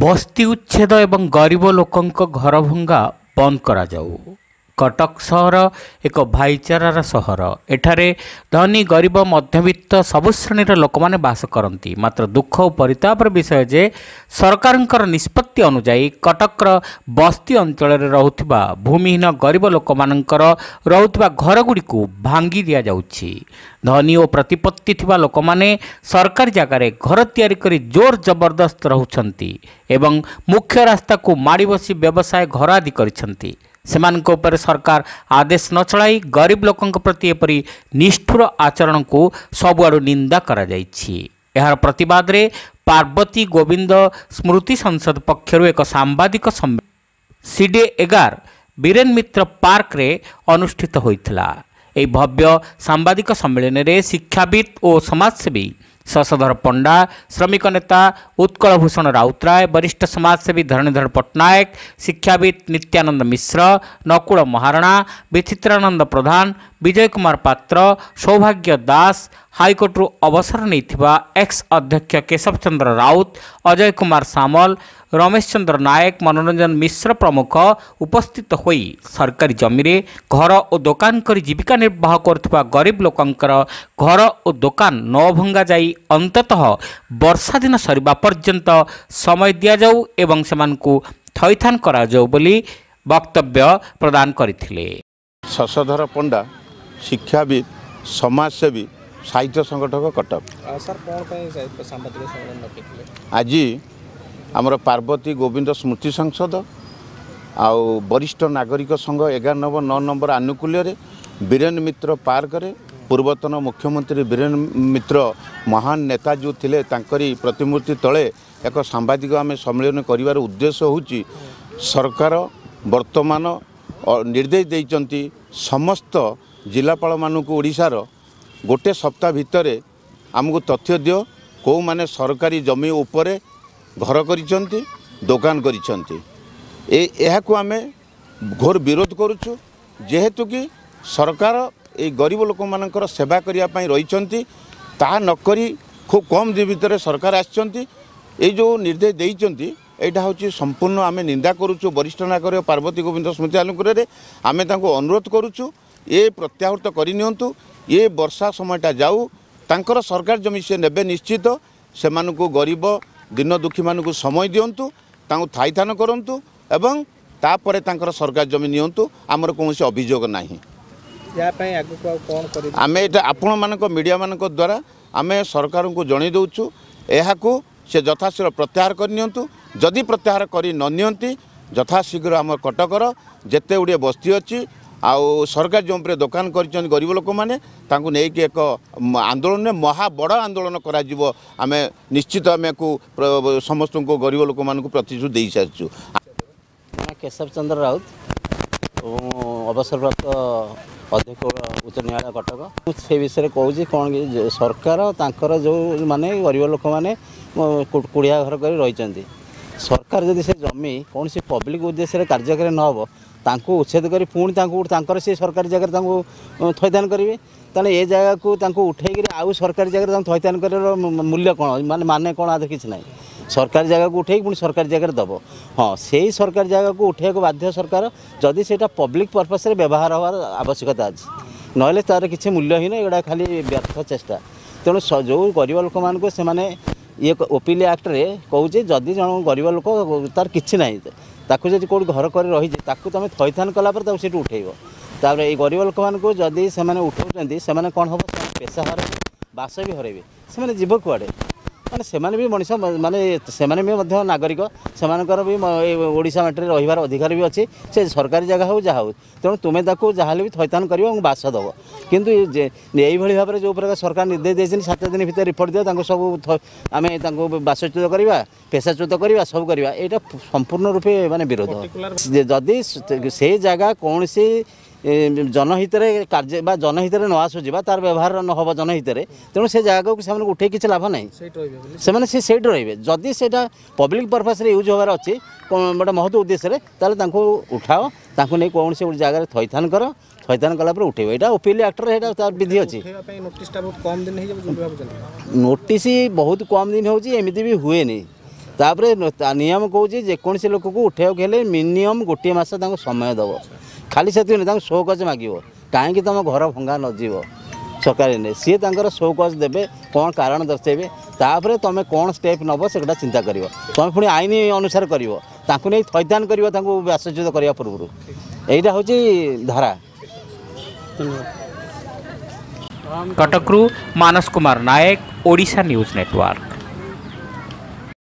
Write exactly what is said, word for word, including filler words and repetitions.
ବସ୍ତି ଉଚ୍ଛେଦ ଏବଂ ଗରିବ ଲୋକଙ୍କ ଘର ଭଙ୍ଗା ବନ୍ଦ କରାଯାଉ। କଟକ ସହର ଏକ ଭାଇଚାରାର ସହର। ଏଠାରେ ଧନୀ, ଗରିବ, ମଧ୍ୟବିତ୍ତ ସବୁ ଶ୍ରେଣୀର ଲୋକମାନେ ବାସ କରନ୍ତି। ମାତ୍ର ଦୁଃଖ ଓ ପରିତାପର ବିଷୟ ଯେ ସରକାରଙ୍କର ନିଷ୍ପତ୍ତି ଅନୁଯାୟୀ କଟକର ବସ୍ତି ଅଞ୍ଚଳରେ ରହୁଥିବା ଭୂମିହୀନ ଗରିବ ଲୋକମାନଙ୍କର ରହୁଥିବା ଘରଗୁଡ଼ିକୁ ଭାଙ୍ଗି ଦିଆଯାଉଛି। ଧନୀ ଓ ପ୍ରତିପତ୍ତି ଥିବା ଲୋକମାନେ ସରକାରୀ ଜାଗାରେ ଘର ତିଆରି କରି ଜୋର ଜବରଦସ୍ତ ରହୁଛନ୍ତି ଏବଂ ମୁଖ୍ୟ ରାସ୍ତାକୁ ମାଡ଼ି ବସି ବ୍ୟବସାୟ ଘର ଆଦି କରିଛନ୍ତି। ସେମାନଙ୍କ ଉପରେ ସରକାର ଆଦେଶ ନ ଚଳାଇ ଗରିବ ଲୋକଙ୍କ ପ୍ରତି ଏପରି ନିଷ୍ଠୁର ଆଚରଣକୁ ସବୁଆଡ଼ୁ ନିନ୍ଦା କରାଯାଇଛି। ଏହାର ପ୍ରତିବାଦରେ ପାର୍ବତୀ ଗୋବିନ୍ଦ ସ୍ମୃତି ସଂସଦ ପକ୍ଷରୁ ଏକ ସାମ୍ବାଦିକ ସମ୍ମିଳନୀ ସିଡିଏ ଏଗାର ବୀରେନ ମିତ୍ର ପାର୍କରେ ଅନୁଷ୍ଠିତ ହୋଇଥିଲା। ଏହି ଭବ୍ୟ ସାମ୍ବାଦିକ ସମ୍ମିଳନୀରେ ଶିକ୍ଷାବିତ୍ ଓ ସମାଜସେବୀ ଶଶଧର ପଣ୍ଡା, ଶ୍ରମିକ ନେତା ଉତ୍କଳ ଭୂଷଣ ରାଉତରାୟ, ବରିଷ୍ଠ ସମାଜସେବୀ ଧରଣୀଧର ପଟ୍ଟନାୟକ, ଶିକ୍ଷାବିତ୍ ନିତ୍ୟାନନ୍ଦ ମିଶ୍ର, ନକୁଳ ମହାରଣା, ବିଚିତ୍ରାନନ୍ଦ ପ୍ରଧାନ, ବିଜୟ କୁମାର ପାତ୍ର, ସୌଭାଗ୍ୟ ଦାସ, ହାଇକୋର୍ଟରୁ ଅବସର ନେଇଥିବା ଏକ୍ସ ଅଧ୍ୟକ୍ଷ କେଶବ ଚନ୍ଦ୍ର ରାଉତ, ଅଜୟ କୁମାର ସାମଲ, ରମେଶ ଚନ୍ଦ୍ର ନାୟକ, ମନୋରଞ୍ଜନ ମିଶ୍ର ପ୍ରମୁଖ ଉପସ୍ଥିତ ହୋଇ ସରକାରୀ ଜମିରେ ଘର ଓ ଦୋକାନ କରି ଜୀବିକା ନିର୍ବାହ କରୁଥିବା ଗରିବ ଲୋକଙ୍କର ଘର ଓ ଦୋକାନ ନ ଭଙ୍ଗାଯାଇ ଅନ୍ତତଃ ବର୍ଷା ଦିନ ସରିବା ପର୍ଯ୍ୟନ୍ତ ସମୟ ଦିଆଯାଉ ଏବଂ ସେମାନଙ୍କୁ ଥଇଥାନ କରାଯାଉ ବୋଲି ବକ୍ତବ୍ୟ ପ୍ରଦାନ କରିଥିଲେ। ଶଶଧର ପଣ୍ଡା, ଶିକ୍ଷାବିତ୍, ସମାଜସେବୀ, ସାହିତ୍ୟ ସଂଗଠକ, କଟକ। ସାର୍, କ'ଣ ପାଇଁ ସାମ୍ବାଦିକ ସମ୍ମିଳନୀ ଡକେଇଥିଲେ? ଆଜି ଆମର ପାର୍ବତୀ ଗୋବିନ୍ଦ ସ୍ମୃତି ସଂସଦ ଆଉ ବରିଷ୍ଠ ନାଗରିକ ସଂଘ ଏଗାର ନମ୍ବର ନଅ ନମ୍ବର ଆନୁକୂଲ୍ୟରେ ବୀରେନ ମିତ୍ର ପାର୍କରେ ପୂର୍ବତନ ମୁଖ୍ୟମନ୍ତ୍ରୀ ବୀରେନ ମିତ୍ର ମହାନ ନେତା ଯେଉଁ ଥିଲେ, ତାଙ୍କରି ପ୍ରତିମୂର୍ତ୍ତି ତଳେ ଏକ ସାମ୍ବାଦିକ ଆମେ ସମ୍ମିଳନୀ କରିବାର ଉଦ୍ଦେଶ୍ୟ ହେଉଛି, ସରକାର ବର୍ତ୍ତମାନ ନିର୍ଦ୍ଦେଶ ଦେଇଛନ୍ତି ସମସ୍ତ ଜିଲ୍ଲାପାଳମାନଙ୍କୁ ଓଡ଼ିଶାର, ଗୋଟେ ସପ୍ତାହ ଭିତରେ ଆମକୁ ତଥ୍ୟ ଦିଅ କେଉଁମାନେ ସରକାରୀ ଜମି ଉପରେ ଘର କରିଛନ୍ତି, ଦୋକାନ କରିଛନ୍ତି। ଏ ଏହାକୁ ଆମେ ଘୋର ବିରୋଧ କରୁଛୁ, ଯେହେତୁ କି ସରକାର ଏଇ ଗରିବ ଲୋକମାନଙ୍କର ସେବା କରିବା ପାଇଁ ରହିଛନ୍ତି। ତାହା ନକରି ଖୁବ୍ କମ୍ ଦିନ ଭିତରେ ସରକାର ଆସିଛନ୍ତି, ଏଇ ଯେଉଁ ନିର୍ଦ୍ଦେଶ ଦେଇଛନ୍ତି, ଏଇଟା ହେଉଛି ସମ୍ପୂର୍ଣ୍ଣ ଆମେ ନିନ୍ଦା କରୁଛୁ। ବରିଷ୍ଠ ନାଗରିକ ପାର୍ବତୀ ଗୋବିନ୍ଦ ସ୍ମୃତି ଆନୁକୂଲ୍ୟରେ ଆମେ ତାଙ୍କୁ ଅନୁରୋଧ କରୁଛୁ, ଏ ପ୍ରତ୍ୟାହୃତ କରିନିଅନ୍ତୁ। ଏ ବର୍ଷା ସମୟଟା ଯାଉ, ତାଙ୍କର ସରକାର ଜମି ସେ ନେବେ ନିଶ୍ଚିତ। ସେମାନଙ୍କୁ, ଗରିବ ଦିନ ଦୁଃଖୀମାନଙ୍କୁ ସମୟ ଦିଅନ୍ତୁ, ତାଙ୍କୁ ଥଇଥାନ କରନ୍ତୁ ଏବଂ ତାପରେ ତାଙ୍କର ସରକାର ଜମି ନିଅନ୍ତୁ। ଆମର କୌଣସି ଅଭିଯୋଗ ନାହିଁ। ୟା ପାଇଁ ଆଗକୁ ଆଉ କ'ଣ କରିବେ? ଆମେ ଏଇଟା ଆପଣମାନଙ୍କ ମିଡ଼ିଆମାନଙ୍କ ଦ୍ୱାରା ଆମେ ସରକାରଙ୍କୁ ଜଣାଇ ଦେଉଛୁ, ଏହାକୁ ସେ ଯଥାଶୀଘ୍ର ପ୍ରତ୍ୟାହାର କରିନିଅନ୍ତୁ। ଯଦି ପ୍ରତ୍ୟାହାର କରି ନ ନିଅନ୍ତି, ଯଥାଶୀଘ୍ର ଆମ କଟକର ଯେତେ ଗୁଡ଼ିଏ ବସ୍ତି ଅଛି ଆଉ ସରକାର ଯେଉଁ ଉପରେ ଦୋକାନ କରିଛନ୍ତି ଗରିବ ଲୋକମାନେ, ତାଙ୍କୁ ନେଇକି ଏକ ଆନ୍ଦୋଳନରେ, ମହା ବଡ଼ ଆନ୍ଦୋଳନ କରାଯିବ। ଆମେ ନିଶ୍ଚିତ ଆମେ ୟାକୁ ସମସ୍ତଙ୍କୁ, ଗରିବ ଲୋକମାନଙ୍କୁ ପ୍ରତିଶ୍ରୁତି ଦେଇସାରିଛୁ। କେଶବ ଚନ୍ଦ୍ର ରାଉତ, ଅବସରପ୍ରାପ୍ତ ଅଧ୍ୟକ୍ଷ, ଉଚ୍ଚ ନ୍ୟାୟାଳୟ, କଟକ। ମୁଁ ସେ ବିଷୟରେ କହୁଛି କ'ଣ କି, ସରକାର ତାଙ୍କର ଯେଉଁ ମାନେ ଗରିବ ଲୋକମାନେ କୁଡ଼ିଆ ଘର କରି ରହିଛନ୍ତି, ସରକାର ଯଦି ସେ ଜମି କୌଣସି ପବ୍ଲିକ୍ ଉଦ୍ଦେଶ୍ୟରେ କାର୍ଯ୍ୟକାରୀ ନ ହେବ, ତାଙ୍କୁ ଉଚ୍ଛେଦ କରି ପୁଣି ତାଙ୍କୁ ତାଙ୍କର ସେ ସରକାରୀ ଜାଗାରେ ତାଙ୍କୁ ଥଇଥାନ କରିବେ, ତାହେଲେ ଏ ଜାଗାକୁ ତାଙ୍କୁ ଉଠେଇକିରି ଆଉ ସରକାରୀ ଜାଗାରେ ତାଙ୍କୁ ଥଇଥାନ କରିବାର ମୂଲ୍ୟ କ'ଣ, ମାନେ ମାନେ କ'ଣ? ଆଦେହରେ କିଛି ନାହିଁ। ସରକାରୀ ଜାଗାକୁ ଉଠେଇକି ପୁଣି ସରକାରୀ ଜାଗାରେ ଦେବ। ହଁ, ସେଇ ସରକାରୀ ଜାଗାକୁ ଉଠେଇବାକୁ ବାଧ୍ୟ ସରକାର ଯଦି ସେଇଟା ପବ୍ଲିକ୍ ପର୍ପସ୍ରେ ବ୍ୟବହାର ହେବାର ଆବଶ୍ୟକତା ଅଛି, ନହେଲେ ତା'ର କିଛି ମୂଲ୍ୟହୀନ, ଏଗୁଡ଼ା ଖାଲି ବ୍ୟର୍ଥ ଚେଷ୍ଟା। ତେଣୁ ଯେଉଁ ଗରିବ ଲୋକମାନଙ୍କୁ ସେମାନେ ଇଏ ଓପିଲି ଆକ୍ଟରେ କହୁଛି, ଯଦି ଜଣ ଗରିବ ଲୋକ ତାର କିଛି ନାହିଁ, ତାକୁ ଯଦି କେଉଁଠି ଘର କରି ରହିଛି, ତାକୁ ତୁମେ ଥଇଥାନ କଲା ପରେ ତାକୁ ସେଇଠୁ ଉଠେଇବ। ତାପରେ ଏଇ ଗରିବ ଲୋକମାନଙ୍କୁ ଯଦି ସେମାନେ ଉଠାଉଛନ୍ତି, ସେମାନେ କ'ଣ ହେବ? ସେମାନେ ପେସା ହରାଇବେ, ବାସ ବି ହରାଇବେ। ସେମାନେ ଯିବ କୁଆଡ଼େ? ମାନେ ସେମାନେ ବି ମଣିଷ, ମାନେ ସେମାନେ ବି ମଧ୍ୟ ନାଗରିକ, ସେମାନଙ୍କର ବି ଓଡ଼ିଶା ମାଟିରେ ରହିବାର ଅଧିକାର ବି ଅଛି, ସେ ସରକାରୀ ଜାଗା ହେଉ ଯାହା ହେଉ। ତେଣୁ ତୁମେ ତାକୁ ଯାହାହେଲେ ବି ଥଇଥାନ କରିବ ଏବଂ ବାସ ଦେବ। କିନ୍ତୁ ଏଇଭଳି ଭାବରେ ଯେଉଁ ପ୍ରକାର ସରକାର ନିର୍ଦ୍ଦେଶ ଦେଇଛନ୍ତି, ସାତ ଦିନ ଭିତରେ ରିପୋର୍ଟ ଦିଅ, ତାଙ୍କୁ ସବୁ ଆମେ ତାଙ୍କୁ ବାସଚ୍ୟୁତ କରିବା, ପେଶାଚ୍ୟୁତ କରିବା, ସବୁ କରିବା, ଏଇଟା ସମ୍ପୂର୍ଣ୍ଣ ରୂପେ ମାନେ ବିରୋଧ। ଯଦି ସେ ଜାଗା କୌଣସି ଜନହିତରେ କାର୍ଯ୍ୟ ବା ଜନହିତରେ ନ ଆସୁଛି ବା ତାର ବ୍ୟବହାର ନ ହେବ ଜନହିତରେ, ତେଣୁ ସେ ଜାଗାକୁ ସେମାନଙ୍କୁ ଉଠେଇ କିଛି ଲାଭ ନାହିଁ। ସେମାନେ ସେ ସେଇଠି ରହିବେ। ଯଦି ସେଇଟା ପବ୍ଲିକ୍ ପର୍ପସ୍ରେ ୟୁଜ୍ ହେବାର ଅଛି ଗୋଟେ ମହତ ଉଦ୍ଦେଶ୍ୟରେ, ତାହେଲେ ତାଙ୍କୁ ଉଠାଅ, ତାଙ୍କୁ ନେଇ କୌଣସି ଗୋଟେ ଜାଗାରେ ଥଇଥାନ କର, ଥଇଥାନ କଲା ପରେ ଉଠେଇବ। ଏଇଟା ଓପିଏଲ୍ ଆକ୍ଟରେ ଏଇଟା ତାର ବିଧି ଅଛି। ନୋଟିସ୍ ବହୁତ କମ୍ ଦିନ ହେଉଛି, ଏମିତି ବି ହୁଏନି। ତାପରେ ନିୟମ କହୁଛି ଯେକୌଣସି ଲୋକକୁ ଉଠେଇବାକୁ ହେଲେ ମିନିମମ୍ ଗୋଟିଏ ମାସ ତାଙ୍କୁ ସମୟ ଦେବ। ଖାଲି ସେତିକି ନୁହେଁ, ତାଙ୍କୁ ସୋ କଜ୍ ମାଗିବ କାହିଁକି ତୁମ ଘର ଭଙ୍ଗା ନଯିବ। ସରକାରୀ ସିଏ ତାଙ୍କର ସୋ କଜ୍ ଦେବେ, କ'ଣ କାରଣ ଦର୍ଶାଇବେ, ତାପରେ ତୁମେ କ'ଣ ଷ୍ଟେପ୍ ନେବ ସେଗୁଡ଼ା ଚିନ୍ତା କରିବ। ତୁମେ ପୁଣି ଆଇନ ଅନୁସାରେ କରିବ, ତାଙ୍କୁ ନେଇ ଥଇଥାନ କରିବ ତାଙ୍କୁ ବାସଚ୍ୟୁତ କରିବା ପୂର୍ବରୁ। ଏଇଟା ହେଉଛି ଧାରା। କଟକରୁ ମାନସ କୁମାର ନାୟକ, ଓଡ଼ିଶା ନ୍ୟୁଜ୍ ନେଟୱାର୍କ।